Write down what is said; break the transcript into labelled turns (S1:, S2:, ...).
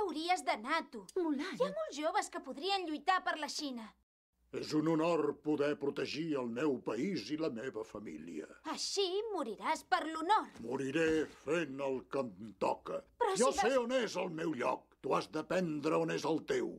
S1: hauries d'anar, tu.
S2: Mulan.
S1: Hi ha molts joves que podrien lluitar per la Xina.
S3: És un honor poder protegir el meu país i la meva família.
S1: Així moriràs per l'honor.
S3: Moriré fent el que em toca.
S1: Però
S3: Jo
S1: si
S3: sé on és el meu lloc. Tu has d'aprendre on és el teu.